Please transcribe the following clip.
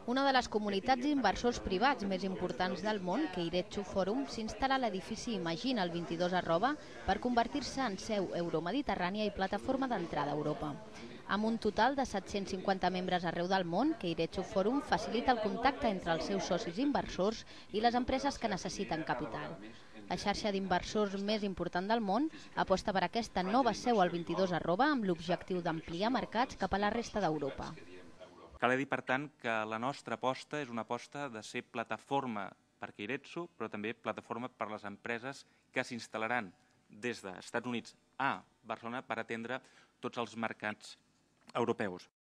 Una de les comunitats d'inversors privats més importants del món, Keiretsu Forum, s'instal·la a l'edifici Imagine el 22 per convertir-se en seu euromediterrània i plataforma d'entrada a Europa. Amb un total de 750 membres arreu del món, Keiretsu Forum facilita el contacte entre els seus socis inversors i les empreses que necessiten capital. La xarxa d'inversors més important del món aposta per aquesta nova seu al 22 amb l'objectiu d'ampliar mercats cap a la resta d'Europa. Cal dir, per tant, que la nostra aposta és una aposta de ser plataforma per Keiretsu, però també plataforma per les empreses que s'instal·laran des dels Estats Units a Barcelona per atendre tots els mercats europeus.